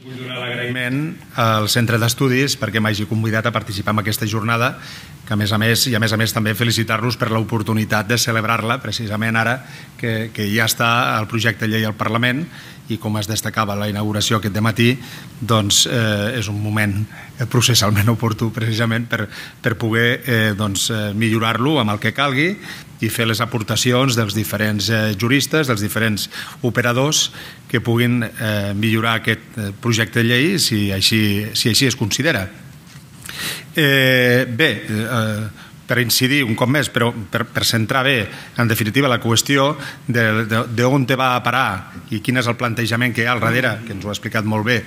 Vull donar l'agraïment al Centre d'Estudis perquè m'hagi convidat a participar en aquesta jornada, que a més a més també felicitar-los per l'oportunitat de celebrar-la precisament ara que ja està el projecte de llei al Parlament i com es destacava la inauguració aquest dematí, doncs és un moment processalment oportú precisament per poder millorar-lo amb el que calgui i fer les aportacions dels diferents juristes, dels diferents operadors que puguin millorar aquest projecte de llei si així es considera. Bé, per incidir un cop més, però per centrar bé, en definitiva, la qüestió d'on te va a parar i quin és el plantejament que hi ha al darrere, que ens ho ha explicat molt bé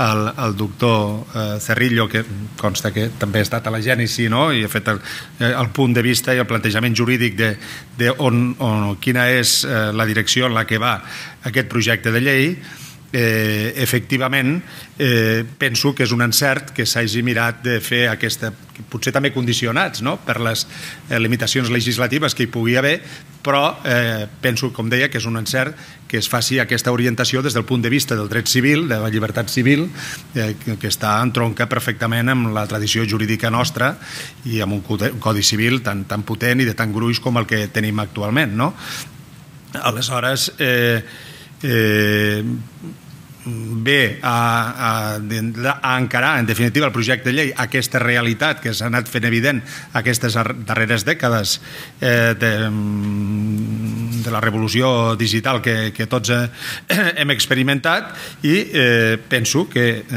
el doctor Cerrillo, que consta que també ha estat a la gènesi, i ha fet el punt de vista i el plantejament jurídic de quina és la direcció en la que va aquest projecte de llei. Efectivament, penso que és un encert que s'hagi mirat de fer aquesta, potser també condicionats per les limitacions legislatives que hi pugui haver, però penso, com deia, que és un encert que es faci aquesta orientació des del punt de vista del dret civil, de la llibertat civil, que està entronca perfectament amb la tradició jurídica nostra i amb un codi civil tan potent i de tan gruix com el que tenim actualment. Aleshores, ve a encarar en definitiva el projecte de llei aquesta realitat que s'ha anat fent evident aquestes darreres dècades de la revolució digital que tots hem experimentat i penso que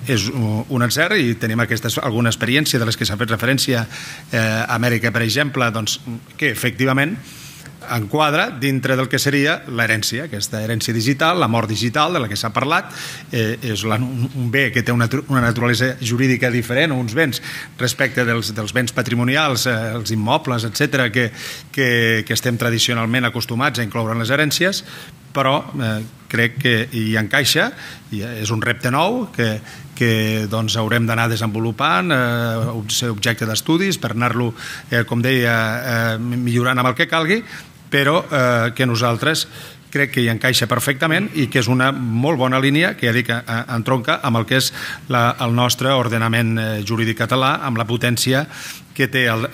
és un encert i tenim alguna experiència de les que s'ha fet referència a Amèrica, per exemple, que efectivament enquadra dintre del que seria l'herència, aquesta herència digital, la mort digital de la que s'ha parlat, és un bé que té una naturalesa jurídica diferent, uns béns respecte dels béns patrimonials, els immobles, etc., que estem tradicionalment acostumats a incloure en les herències, però crec que hi encaixa, és un repte nou que haurem d'anar desenvolupant, ser objecte d'estudis per anar-lo, com deia, millorant amb el que calgui, però que nosaltres crec que hi encaixa perfectament i que és una molt bona línia que ja dic entronca amb el que és el nostre ordenament jurídic català, amb la potència que té el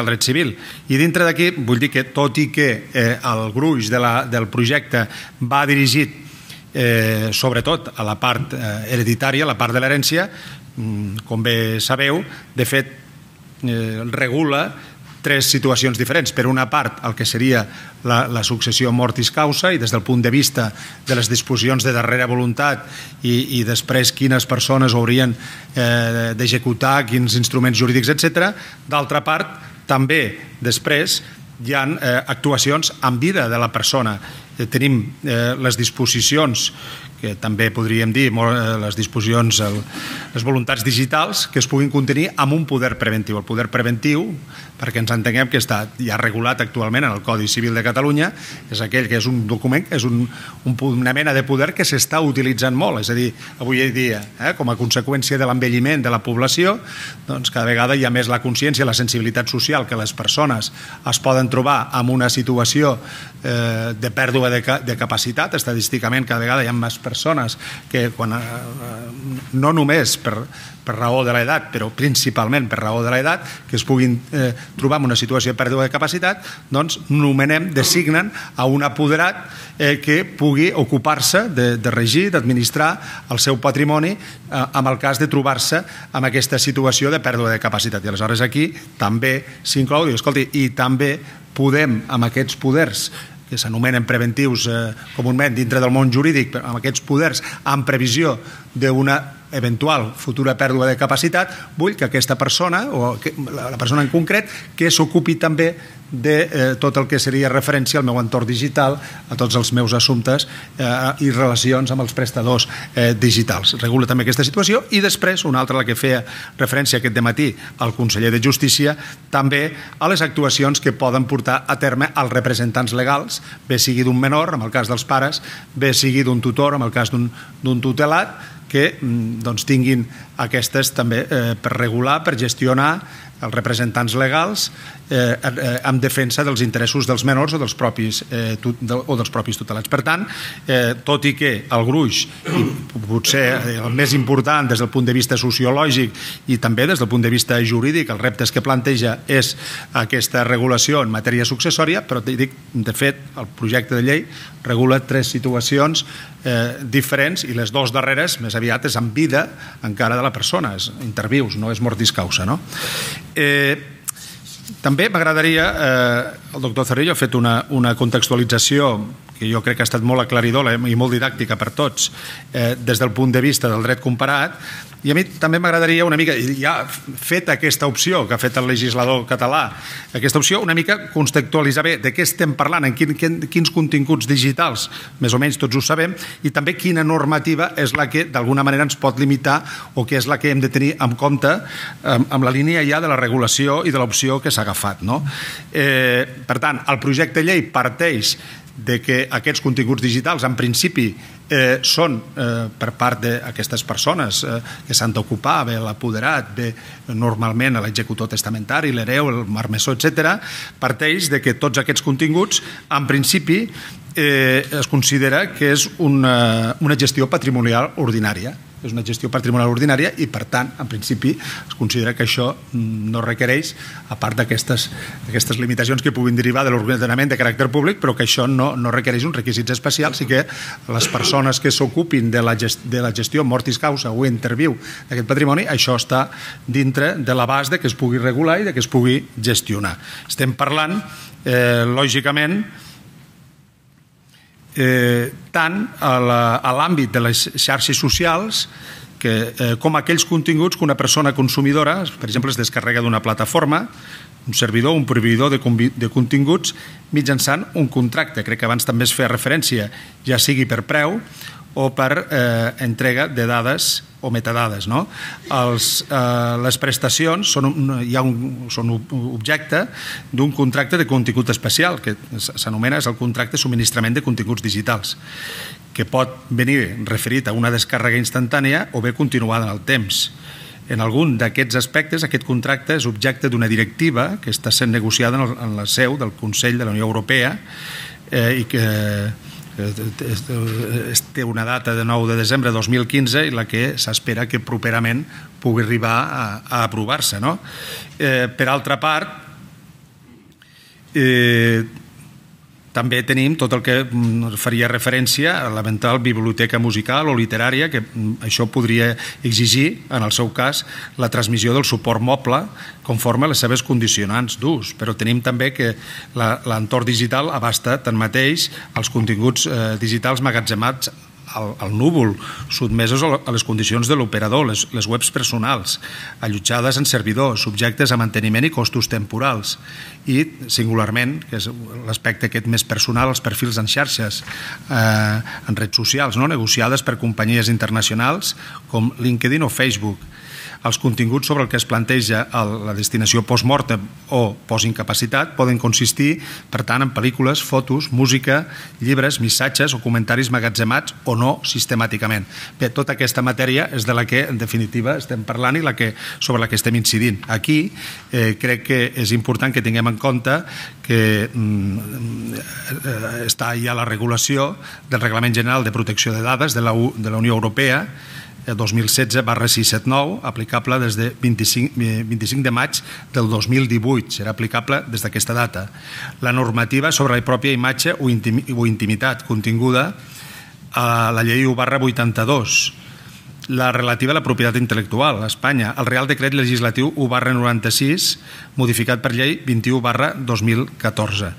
dret civil. I dintre d'aquí vull dir que tot i que el gruix del projecte va dirigit sobretot a la part hereditària, a la part de l'herència, com bé sabeu, de fet regula tres situacions diferents. Per una part, el que seria la successió mortis causa i des del punt de vista de les disposicions de darrera voluntat i després quines persones haurien d'executar, quins instruments jurídics, etc. D'altra part, també després hi ha actuacions en vida de la persona. Tenim les disposicions, que també podríem dir les disposicions, les voluntats digitals que es puguin contenir amb un poder preventiu. El poder preventiu, perquè ens entenguem que està ja regulat actualment en el Codi Civil de Catalunya, és aquell que és un document, és una mena de poder que s'està utilitzant molt. És a dir, avui dia, com a conseqüència de l'envelliment de la població, doncs cada vegada hi ha més la consciència, la sensibilitat social que les persones es poden trobar en una situació de pèrdua de capacitat. Estadísticament cada vegada hi ha més persones que no només per raó de l'edat, però principalment per raó de l'edat, que es puguin trobar en una situació de pèrdua de capacitat, doncs nomenem, designen a un apoderat que pugui ocupar-se de regir, d'administrar el seu patrimoni en el cas de trobar-se en aquesta situació de pèrdua de capacitat. I aleshores aquí també s'inclou, i també podem, amb aquests poders que s'anomenen preventius comunament dintre del món jurídic, amb aquests poders en previsió d'una eventual futura pèrdua de capacitat, vull que aquesta persona, o la persona en concret, que s'ocupi també de tot el que seria referència al meu entorn digital, a tots els meus assumptes i relacions amb els prestadors digitals. Regula també aquesta situació i després, una altra, la que feia referència aquest dematí al conseller de Justícia, també a les actuacions que poden portar a terme els representants legals, bé sigui d'un menor, en el cas dels pares, bé sigui d'un tutor, en el cas d'un tutelat, que tinguin aquestes també per regular, per gestionar els representants legals en defensa dels interessos dels menors o dels propis tutelats. Per tant, tot i que el gruix, i potser el més important des del punt de vista sociològic i també des del punt de vista jurídic, els reptes que planteja és aquesta regulació en matèria successòria, però de fet el projecte de llei regula 3 situacions diferents i les 2 darreres més aviat és en vida encara de la persona, és intervius, no és mortis causa. També m'agradaria, el doctor Cerrillo ha fet una contextualització que jo crec que ha estat molt aclaridora i molt didàctica per tots des del punt de vista del dret comparat, i a mi també m'agradaria una mica, ja feta aquesta opció que ha fet el legislador català, aquesta opció una mica contextualitzar bé de què estem parlant, en quins continguts digitals, més o menys tots ho sabem, i també quina normativa és la que d'alguna manera ens pot limitar o que és la que hem de tenir en compte amb la línia ja de la regulació i de l'opció que s'ha agafat. Per tant, el projecte de llei parteix de que aquests continguts digitals en principi són per part d'aquestes persones que s'han d'ocupar, bé l'apoderat, bé normalment l'executor testamentari, l'hereu, el marmessor, etc., parteix de que tots aquests continguts en principi es considera que és una gestió patrimonial ordinària. És una gestió patrimonial ordinària i, per tant, en principi, es considera que això no requereix, a part d'aquestes limitacions que puguin derivar de l'ordenament de caràcter públic, però que això no requereix uns requisits especials i que les persones que s'ocupin de la gestió mortis causa o interviu d'aquest patrimoni, això està dintre de l'abast de que es pugui regular i de que es pugui gestionar. Estem parlant, lògicament, tant a l'àmbit de les xarxes socials com aquells continguts que una persona consumidora, per exemple, es descarrega d'una plataforma, un servidor, un proveïdor de continguts mitjançant un contracte. Crec que abans també es feia referència, ja sigui per preu o per entrega de dades o metadades. Les prestacions són objecte d'un contracte de contingut especial, que s'anomena el contracte de subministrament de continguts digitals, que pot venir referit a una descàrrega instantània o bé continuada en el temps. En algun d'aquests aspectes, aquest contracte és objecte d'una directiva que està sent negociada en la seu del Consell de la Unió Europea i que té una data de 9 de desembre de 2015 i la que s'espera que properament pugui arribar a aprovar-se. Per altra part, també tenim tot el que faria referència a l'eventual biblioteca musical o literària, que això podria exigir, en el seu cas, la transmissió del suport moble conforme a les seves condicionants d'ús. Però tenim també que l'entorn digital abasta tanmateix els continguts digitals magatzemats al núvol, sotmesos a les condicions de l'operador, les webs personals, allotjades en servidors, subjectes a manteniment i costos temporals, i singularment, que és l'aspecte aquest més personal, els perfils en xarxes, en redes socials, negociades per companyies internacionals com LinkedIn o Facebook. Els continguts sobre el que es planteja la destinació post-mortem o post-incapacitat poden consistir, per tant, en pel·lícules, fotos, música, llibres, missatges o comentaris magatzemats o no sistemàticament. Bé, tota aquesta matèria és de la que, en definitiva, estem parlant i sobre la que estem incidint. Aquí crec que és important que tinguem en compte que està ja la regulació del Reglament General de Protecció de Dades de la Unió Europea 2016/679, aplicable des de 25 de maig del 2018. Serà aplicable des d'aquesta data. La normativa sobre la pròpia imatge o intimitat continguda a la llei 1/82, la relativa a la propietat intel·lectual a Espanya, el Real Decret Legislatiu 1/96, modificat per llei 21/2014.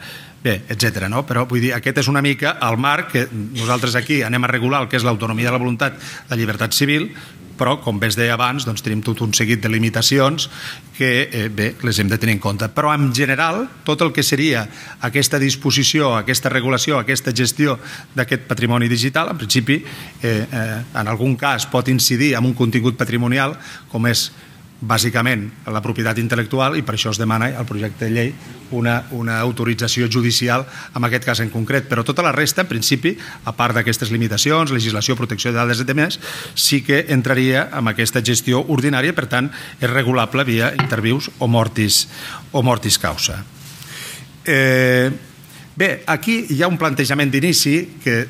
Bé, etc. Però vull dir, aquest és una mica el marc que nosaltres aquí anem a regular el que és l'autonomia de la voluntat, la llibertat civil, però, com bé es deia abans, tenim tot un seguit de limitacions que, bé, les hem de tenir en compte. Però, en general, tot el que seria aquesta disposició, aquesta regulació, aquesta gestió d'aquest patrimoni digital, en principi, en algun cas pot incidir en un contingut patrimonial, com és bàsicament la propietat intel·lectual, i per això es demana al projecte de llei una autorització judicial en aquest cas en concret, però tota la resta, en principi, a part d'aquestes limitacions, legislació, protecció de dades i demés, sí que entraria en aquesta gestió ordinària, per tant, és regulable via intervius o mortis causa. Bé, aquí hi ha un plantejament d'inici que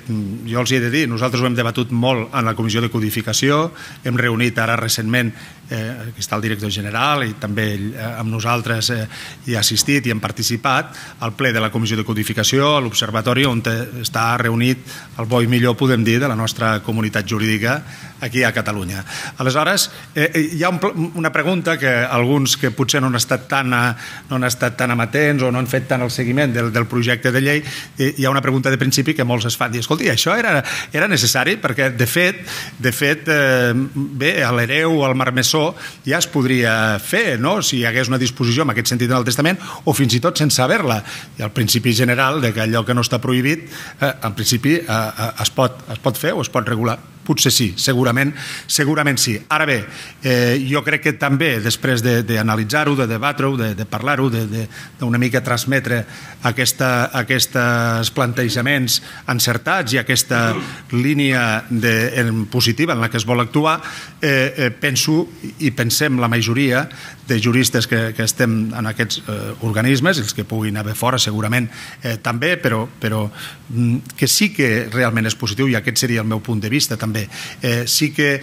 jo els he de dir, nosaltres ho hem debatut molt en la Comissió de Codificació, hem reunit ara recentment, aquí està el director general i també amb nosaltres hi ha assistit i hem participat al ple de la Comissió de Codificació, a l'Observatori, on està reunit el bo i millor, podem dir, de la nostra comunitat jurídica aquí a Catalunya. Aleshores, hi ha una pregunta que alguns que potser no han estat tan amatents o no han fet tant el seguiment del projecte de llei, hi ha una pregunta de principi que molts es fan, i escolti, això era necessari? Perquè de fet bé, a l'hereu o al marmessor ja es podria fer, no? Si hi hagués una disposició en aquest sentit en el testament, o fins i tot sense haver-la. I el principi general de que allò que no està prohibit en principi es pot fer o es pot regular. Potser sí, segurament sí. Ara bé, jo crec que també després d'analitzar-ho, de debatre-ho, de parlar-ho, d'una mica transmetre aquests plantejaments encertats i aquesta línia positiva en la que es vol actuar, penso i pensem la majoria de juristes que estem en aquests organismes, els que puguin haver fora segurament també, però que sí que realment és positiu, i aquest seria el meu punt de vista també. Sí que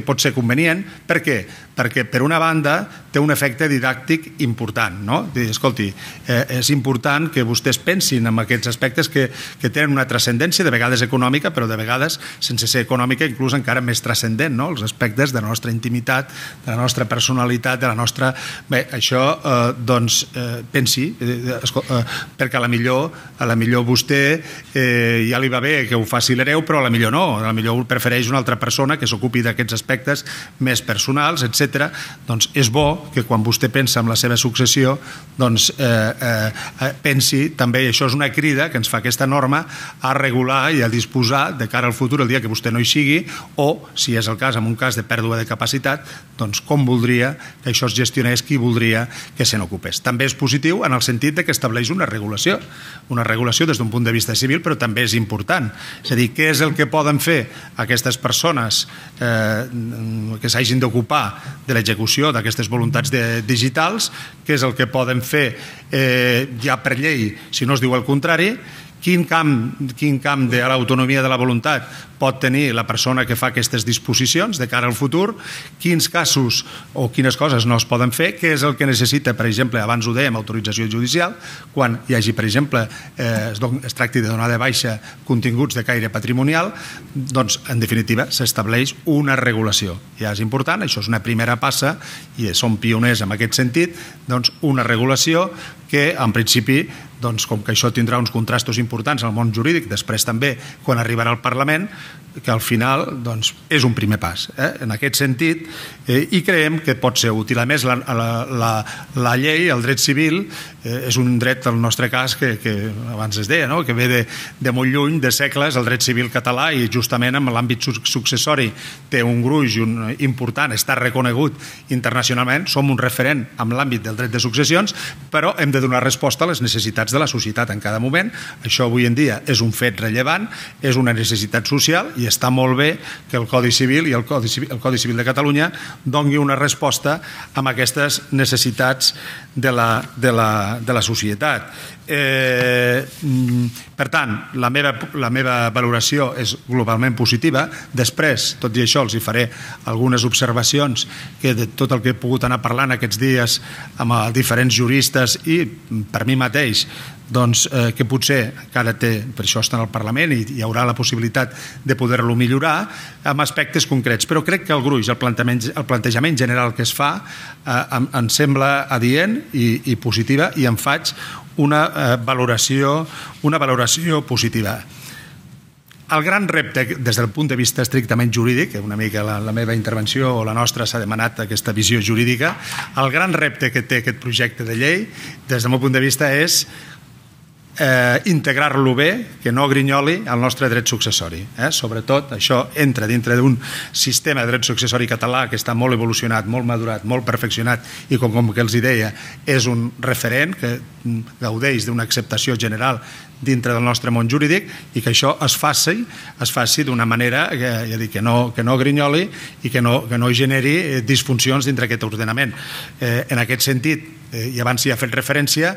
pot ser convenient. Per què? Perquè per una banda té un efecte didàctic important, no? Escolti, és important que vostès pensin en aquests aspectes que tenen una transcendència, de vegades econòmica, però de vegades sense ser econòmica, inclús encara més transcendent, no? Els aspectes de la nostra intimitat, de la nostra personalitat, de la nostra... Bé, això, doncs, pensi, perquè a la millor vostè ja li va bé que ho faci l'hereu, però a la millor no, a la millor prefereix una altra persona que s'ocupi d'aquests aspectes més personals, etc. Doncs és bo que quan vostè pensa en la seva successió, doncs pensi també, i això és una crida que ens fa aquesta norma, a regular i a disposar de cara al futur, el dia que vostè no hi sigui, o, si és el cas, en un cas de pèrdua de capacitat, doncs com voldria que això es gestionés, qui voldria que se n'ocupés. També és positiu en el sentit que estableix una regulació des d'un punt de vista civil, però també és important. És a dir, què és el que poden fer aquestes persones que s'hagin d'ocupar de l'execució d'aquestes voluntats digitals, què és el que poden fer ja per llei, si no es diu el contrari, quin camp de l'autonomia de la voluntat pot tenir la persona que fa aquestes disposicions de cara al futur, quins casos o quines coses no es poden fer, què és el que necessita, per exemple, abans ho dèiem, autorització judicial, quan hi hagi, per exemple, es tracti de donar de baixa continguts de caire patrimonial, doncs, en definitiva, s'estableix una regulació. Ja és important, això és una primera passa, i som pioners en aquest sentit, doncs una regulació que, en principi, doncs, com que això tindrà uns contrastos importants al món jurídic, després també, quan arribarà al Parlament, que al final doncs, és un primer pas en aquest sentit, i creiem que pot ser útil. A més, la llei, el dret civil, és un dret, en el nostre cas, que abans es deia, que ve de molt lluny, de segles, el dret civil català, i justament en l'àmbit successori té un gruix important, està reconegut internacionalment, som un referent en l'àmbit del dret de successions, però hem de donar resposta a les necessitats de la societat en cada moment. Això avui en dia és un fet rellevant, és una necessitat social, i està molt bé que el Codi Civil i el Codi Civil de Catalunya doni una resposta a aquestes necessitats de la societat. Per tant, la meva valoració és globalment positiva. Després, tot i això, els hi faré algunes observacions que de tot el que he pogut anar parlant aquests dies amb diferents juristes i per mi mateix, doncs, que potser encara té, per això està en el Parlament i hi haurà la possibilitat de poder-lo millorar amb aspectes concrets, però crec que el gruix, el plantejament general que es fa em sembla adient i positiva, i en faig una valoració positiva. El gran repte, des del punt de vista estrictament jurídic, una mica la meva intervenció o la nostra s'ha demanat aquesta visió jurídica, el gran repte que té aquest projecte de llei, des del meu punt de vista, és integrar-lo bé, que no grinyoli el nostre dret successori. Sobretot, això entra dintre d'un sistema de dret successori català que està molt evolucionat, molt madurat, molt perfeccionat i, com que els deia, és un referent que gaudeix d'una acceptació general dintre del nostre món jurídic i que això es faci d'una manera que no grinyoli i que no generi disfuncions dintre aquest ordenament. En aquest sentit, i abans hi ha fet referència,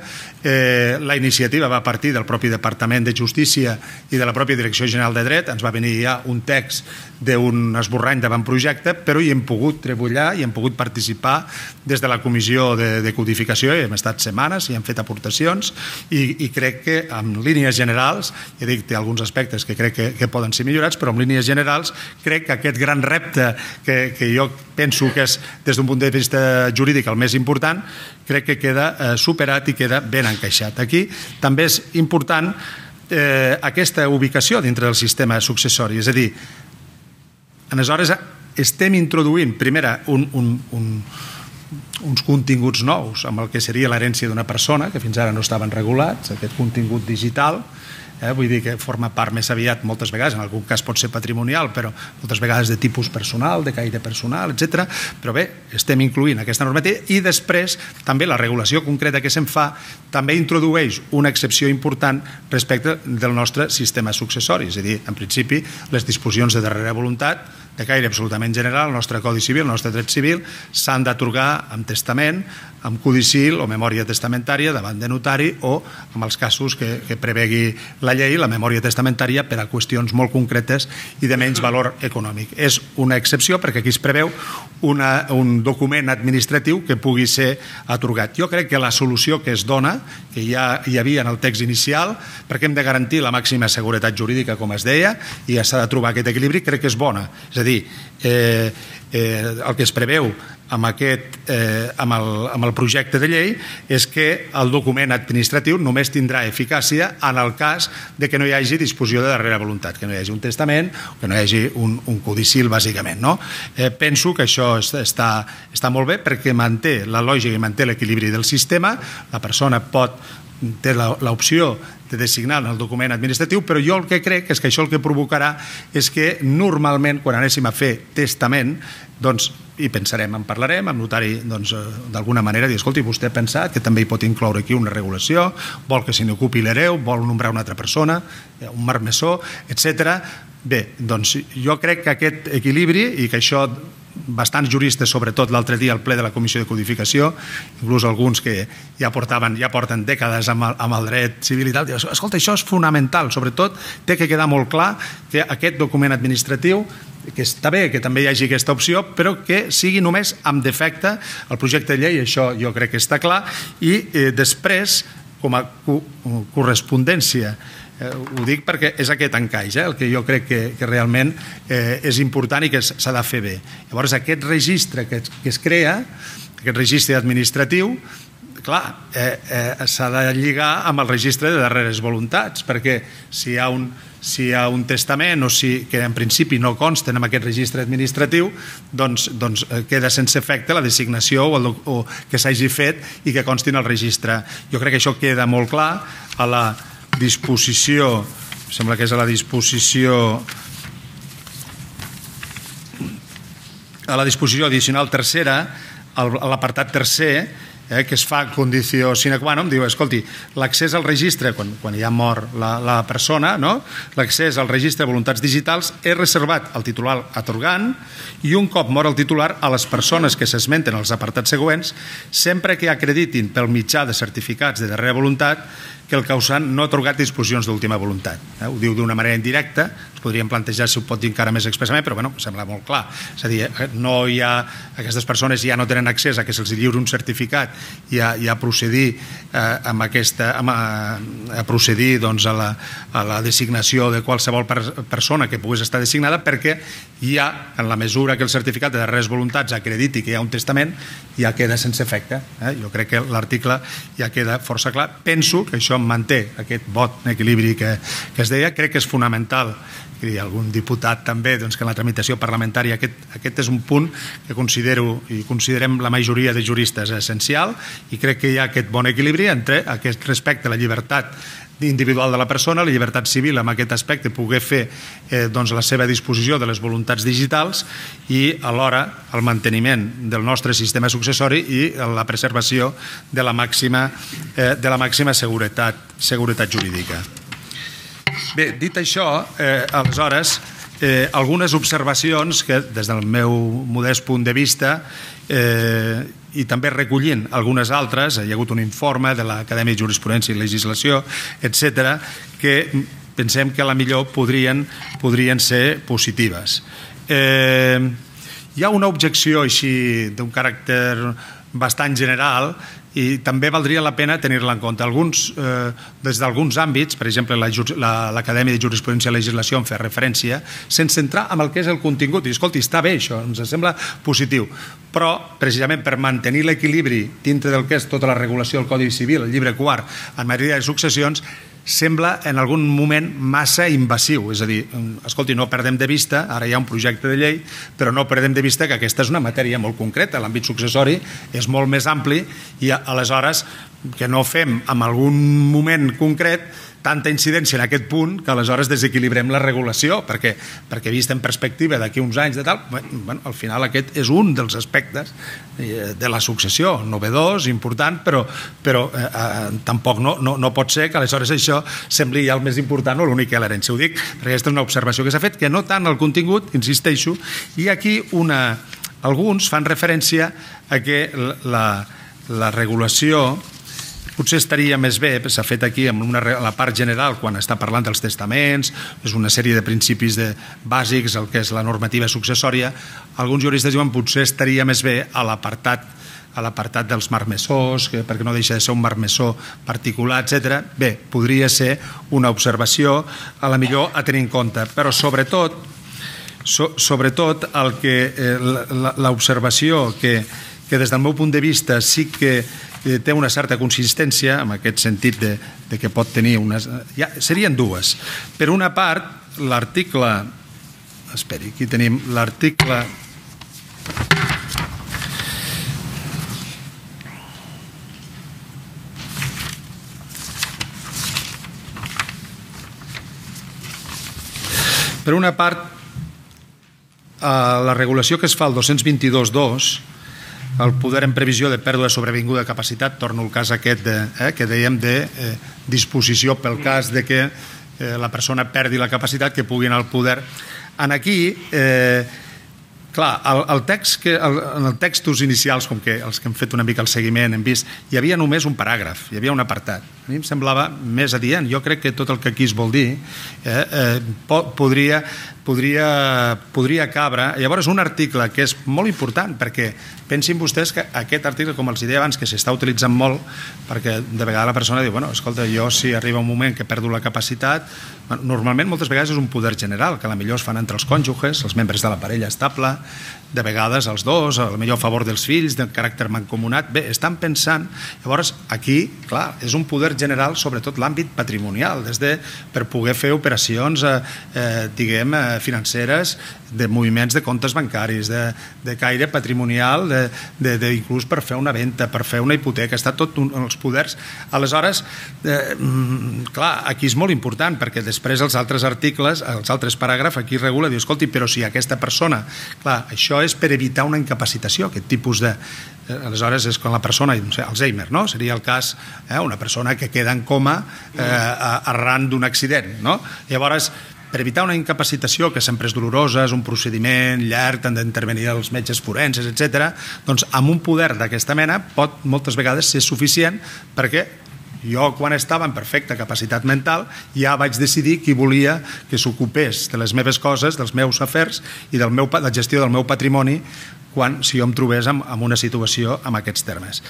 la iniciativa va partir del propi Departament de Justícia i de la pròpia Direcció General de Dret. Ens va venir ja un text d'un esborrany d'avantprojecte, però hi hem pogut treballar i hem pogut participar des de la Comissió de Codificació, i hem estat setmanes i hem fet aportacions i crec que en línies generals, ja dic, té alguns aspectes que crec que poden ser millorats, però en línies generals crec que aquest gran repte que jo penso que és des d'un punt de vista jurídic el més important, crec que queda superat i queda ben encaixat. Aquí també és important aquesta ubicació dintre del sistema successori, és a dir, aleshores estem introduint, primera, uns continguts nous amb el que seria l'herència d'una persona, que fins ara no estaven regulats, aquest contingut digital, vull dir que forma part més aviat moltes vegades, en algun cas pot ser patrimonial, però moltes vegades de tipus personal, de caire personal, etc. Però bé, estem incloent aquesta normativa i després també la regulació concreta que se'n fa també introdueix una excepció important respecte del nostre sistema successori, és a dir, en principi, les disposicions de darrera voluntat de caire absolutament general, el nostre Codi Civil, el nostre dret civil, s'han d'atorgar amb testament, amb codicil o memòria testamentària davant de notari o, en els casos que prevegui la llei, la memòria testamentària per a qüestions molt concretes i de menys valor econòmic. És una excepció perquè aquí es preveu un document administratiu que pugui ser atorgat. Jo crec que la solució que es dona, que ja hi havia en el text inicial, perquè hem de garantir la màxima seguretat jurídica, com es deia, i s'ha de trobar aquest equilibri, crec que és bona. És a dir, el que es preveu amb el projecte de llei és que el document administratiu només tindrà eficàcia en el cas de que no hi hagi disposició de darrera voluntat, que no hi hagi un testament, que no hi hagi un codicil, bàsicament. Penso que això està molt bé perquè manté la lògica i manté l'equilibri del sistema. La persona té l'opció de designar en el document administratiu, però jo el que crec és que això el que provocarà és que normalment quan anéssim a fer testament, doncs, i pensarem, en parlarem, amb notari, doncs, d'alguna manera, dir, escolti, vostè ha pensat que també hi pot incloure aquí una regulació, vol que se n'ocupi l'hereu, vol nombrar una altra persona, un marmessor, etc. Bé, doncs jo crec que aquest equilibri i que això bastants juristes, sobretot l'altre dia al ple de la Comissió de Codificació, inclús alguns que ja porten dècades amb el dret civil i tal, diuen, escolta, això és fonamental, sobretot té que quedar molt clar que aquest document administratiu, que està bé que també hi hagi aquesta opció, però que sigui només amb defecte el projecte de llei, això jo crec que està clar, i després, com a correspondència, ho dic perquè és aquest encaix el que jo crec que realment és important i que s'ha de fer bé. Llavors aquest registre que es crea, aquest registre administratiu, clar, s'ha de lligar amb el registre de darreres voluntats, perquè si hi ha un testament o que en principi no consten en aquest registre administratiu, doncs queda sense efecte la designació o que s'hagi fet i que consti en el registre. Jo crec que això queda molt clar a la disposició, sembla que és a la disposició addicional tercera, a l'apartat tercer, que es fa condició sine qua non, diu, escolti, l'accés al registre, quan ja mor la persona, l'accés al registre de voluntats digitals és reservat al titular atorgant i un cop mor el titular a les persones que s'esmenten als apartats següents, sempre que acreditin pel mitjà de certificats de darrera voluntat que el causant no ha atorgat disposicions d'última voluntat. Ho diu d'una manera indirecta, ens podríem plantejar si ho pot dir encara més expressament, però em sembla molt clar. És a dir, aquestes persones ja no tenen accés a que se'ls lliuri un certificat i a procedir a la designació de qualsevol persona que pogués estar designada, perquè ja, en la mesura que el certificat de darreres voluntats acrediti que hi ha un testament, ja queda sense efecte. Jo crec que l'article ja queda força clar. Penso que això manté aquest vot en equilibri que es deia. Crec que és fonamental, i algun diputat també, que en la tramitació parlamentària aquest és un punt que considero i considerem la majoria de juristes essencial, i crec que hi ha aquest bon equilibri entre aquest respecte a la llibertat individual de la persona, la llibertat civil en aquest aspecte, poder fer la seva disposició de les voluntats digitals i alhora el manteniment del nostre sistema successori i la preservació de la màxima seguretat jurídica. Bé, dit això, aleshores, algunes observacions que des del meu modest punt de vista i també recollint algunes altres, hi ha hagut un informe de l'Acadèmia de Jurisprudència i Legislació, etc., que pensem que a la millor podrien ser positives. Hi ha una objecció així d'un caràcter bastant general i també valdria la pena tenir-la en compte. Des d'alguns àmbits, per exemple l'Acadèmia de Jurisprudència i Legislació en fa referència, sense entrar en el que és el contingut. I escolti, està bé això, ens sembla positiu, però precisament per mantenir l'equilibri dintre del que és tota la regulació del Codi Civil, el llibre quart, en matèria de successions, sembla en algun moment massa invasiu. És a dir, escolti, no perdem de vista, ara hi ha un projecte de llei, però no perdem de vista que aquesta és una matèria molt concreta, l'àmbit successori és molt més ampli i aleshores que no fem en algun moment concret tanta incidència en aquest punt que aleshores desequilibrem la regulació, perquè vist en perspectiva d'aquí uns anys de tal, al final aquest és un dels aspectes de la successió, novedós, important, però tampoc no pot ser que aleshores això sembli ja el més important o l'únic que l'herència. Ho dic perquè aquesta és una observació que s'ha fet, que no tant el contingut, insisteixo, i aquí alguns fan referència a que la regulació potser estaria més bé, s'ha fet aquí en la part general quan està parlant dels testaments, és una sèrie de principis bàsics, el que és la normativa successòria. Alguns juristes diuen potser estaria més bé a l'apartat dels marmessors, perquè no deixa de ser un marmessor particular, etc. Bé, podria ser una observació a la millor a tenir en compte, però sobretot l'observació que des del meu punt de vista sí que té una certa consistència en aquest sentit de que pot tenir serien dues. Per una part, l'article, esperi, aquí tenim l'article per una part, la regulació que es fa al 222.2, el poder en previsió de pèrdua sobrevinguda de capacitat, torno al cas aquest que dèiem de disposició pel cas de que la persona perdi la capacitat, que pugui anar al poder. Aquí, clar, en els textos inicials, com que els que hem fet una mica el seguiment hem vist, hi havia només un paràgraf, hi havia un apartat. A mi em semblava més adient. Jo crec que tot el que aquí es vol dir podria cabre. Llavors, un article que és molt important, perquè pensin vostès que aquest article, com els deia abans, que s'està utilitzant molt, perquè de vegades la persona diu, bueno, escolta, jo si arriba un moment que perdo la capacitat, normalment moltes vegades és un poder general, que potser es fan entre els cònjuges, els membres de la parella estable, de vegades els dos, potser a favor dels fills, de caràcter mancomunat. Bé, estan pensant, llavors aquí, clar, és un poder general, sobretot l'àmbit patrimonial, per poder fer operacions, diguem, financeres, de moviments de comptes bancaris, de caire patrimonial, inclús per fer una venda, per fer una hipoteca, està tot en els poders. Aleshores, clar, aquí és molt important, perquè després els altres articles, els altres paràgrafs, aquí regula, diu, escolti, però si aquesta persona, clar, això és per evitar una incapacitació, aquest tipus de... Aleshores és quan la persona, Alzheimer, no? Seria el cas, una persona que queda en coma arran d'un accident, no? Llavors, per evitar una incapacitació que sempre és dolorosa, és un procediment llarg, han d'intervenir els metges forenses, etc., doncs amb un poder d'aquesta mena pot moltes vegades ser suficient, perquè jo quan estava en perfecta capacitat mental ja vaig decidir qui volia que s'ocupés de les meves coses, dels meus afers i de la gestió del meu patrimoni si jo em trobés en una situació amb aquests termes.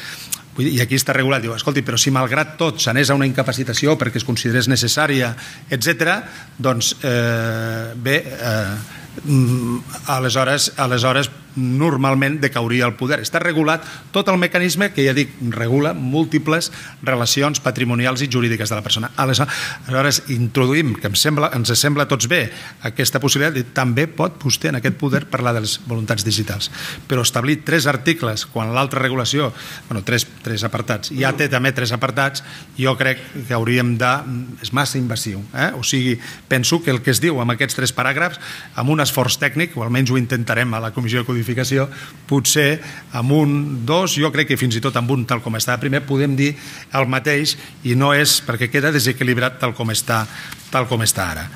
I aquí està regulat, diu, escolti, però si malgrat tot s'anés a una incapacitació perquè es considerés necessària, etc., doncs bé, aleshores normalment decauria el poder. Està regulat tot el mecanisme que, ja dic, regula múltiples relacions patrimonials i jurídiques de la persona. Aleshores, introduïm, que ens sembla a tots bé, aquesta possibilitat, i també pot vostè en aquest poder parlar de les voluntats digitals. Però establir 3 articles, quan l'altra regulació, bueno, 3 apartats, ja té també 3 apartats, jo crec que hauríem de... és massa invasiu. O sigui, penso que el que es diu amb aquests 3 paràgrafs, amb un esforç tècnic, o almenys ho intentarem a la Comissió de Codificació, potser amb un, 2, jo crec que fins i tot amb un tal com estava primer, podem dir el mateix i no és perquè queda desequilibrat tal com està ara.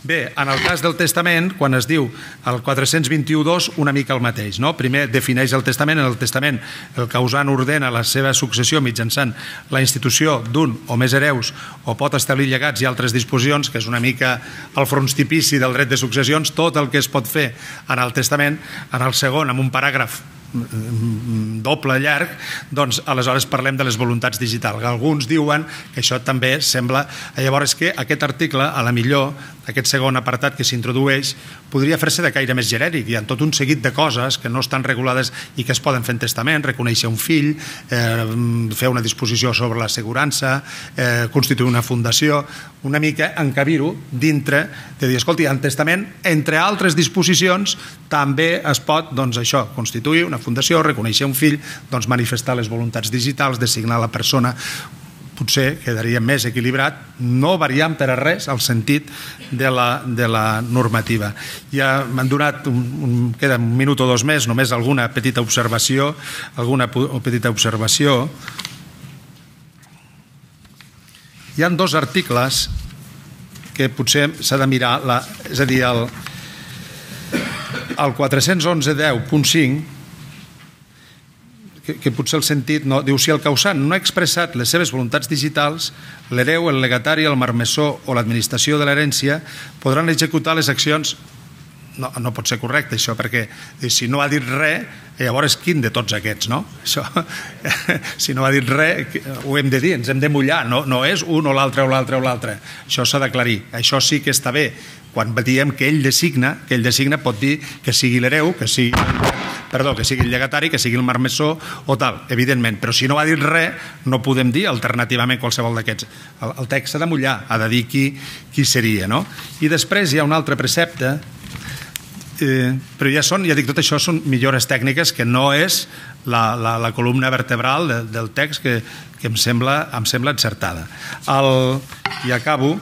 Bé, en el cas del testament, quan es diu el 421.2, una mica el mateix. Primer defineix el testament. En el testament el causant ordena la seva successió mitjançant la institució d'un o més hereus o pot establir llegats i altres disposicions, que és una mica el frontispici del dret de successions, tot el que es pot fer en el testament. En el segon, amb un paràgraf doble llarg, doncs aleshores parlem de les voluntats digitals. Alguns diuen que això també sembla... Llavors que aquest article, a la millor, aquest segon apartat que s'introdueix, podria fer-se de caire més genèric. Hi ha tot un seguit de coses que no estan regulades i que es poden fer en testament, reconèixer un fill, fer una disposició sobre l'assegurança, constituir una fundació, una mica encabir-ho dintre de dir, escolti, en testament, entre altres disposicions, també es pot, doncs això, constituir una fundació, reconèixer un fill, doncs manifestar les voluntats digitals, designar la persona, potser quedaria més equilibrat, no variant per a res el sentit de la normativa. Ja m'han donat, queda un minut o 2 més, només alguna petita observació. Hi ha 2 articles que potser s'ha de mirar, és a dir, el 411.10.5, que potser el sentit diu, si el causant no ha expressat les seves voluntats digitals, l'hereu, el legatari, el marmessor o l'administració de l'herència podran executar les accions. No pot ser correcte això, perquè si no ha dit res, llavors quin de tots aquests, no? Si no ha dit res, ho hem de dir, ens hem de mullar, no és un o l'altre o l'altre o l'altre. Això s'ha d'aclarir. Això sí que està bé. Quan diem que ell designa, pot dir que sigui l'hereu, que sigui el llegatari, que sigui el marmessor o tal, evidentment. Però si no ha dit res, no podem dir alternativament qualsevol d'aquests. El text s'ha de mullar, ha de dir qui seria, no? I després hi ha un altre precepte, però ja dic, tot això són millores tècniques, que no és la columna vertebral del text que em sembla encertada. I acabo.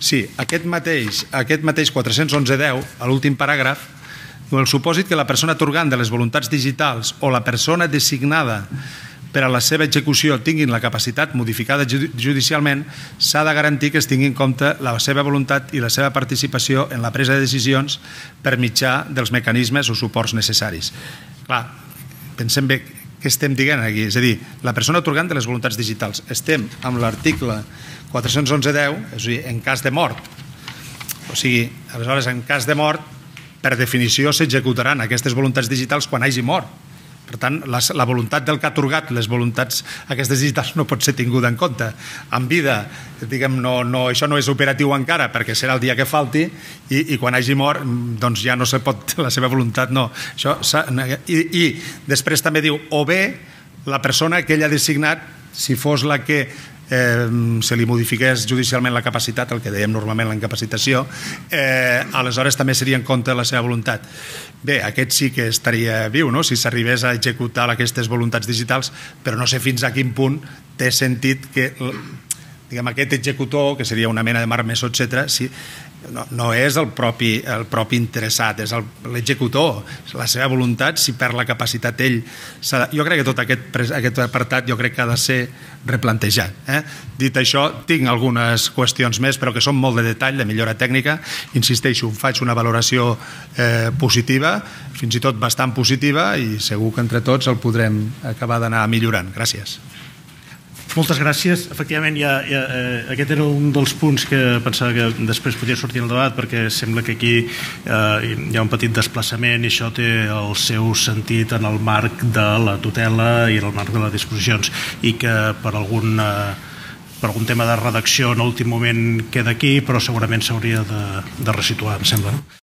Sí, aquest mateix 411.10, a l'últim paràgraf, el supòsit que la persona atorgant de les voluntats digitals o la persona designada per a la seva execució tinguin la capacitat modificada judicialment, s'ha de garantir que es tingui en compte la seva voluntat i la seva participació en la presa de decisions per mitjà dels mecanismes o suports necessaris. Clar, pensem bé què estem dient aquí, és a dir, la persona atorgant de les voluntats digitals. Estem amb l'article 411.10, és a dir, en cas de mort. O sigui, aleshores, en cas de mort, per definició s'executaran aquestes voluntats digitals quan hagi mort. Per tant, la voluntat del que ha atorgat les voluntats aquestes digitals no pot ser tinguda en compte. En vida, diguem, això no és operatiu encara perquè serà el dia que falti i quan hagi mort, doncs ja no se pot, la seva voluntat no. I després també diu, o bé la persona que ell ha designat, si fos la que se li modifiqués judicialment la capacitat, el que dèiem normalment la incapacitació, aleshores també seria en compte la seva voluntat. Bé, aquest sí que estaria viu, no?, si s'arribés a executar aquestes voluntats digitals, però no sé fins a quin punt té sentit que aquest executor, que seria una mena de marmessor, etc., no és el propi interessat, és l'executor, la seva voluntat, si perd la capacitat ell. Jo crec que tot aquest apartat jo crec que ha de ser replantejat. Dit això, tinc algunes qüestions més, però que són molt de detall, de millora tècnica. Insisteixo, faig una valoració positiva, fins i tot bastant positiva, i segur que entre tots el podrem acabar d'anar millorant. Gràcies. Moltes gràcies. Efectivament, aquest era un dels punts que pensava que després podia sortir al debat, perquè sembla que aquí hi ha un petit desplaçament i això té el seu sentit en el marc de la tutela i en el marc de les disposicions, i que per per algun tema de redacció en l'últim moment queda aquí, però segurament s'hauria de resituar, em sembla, no?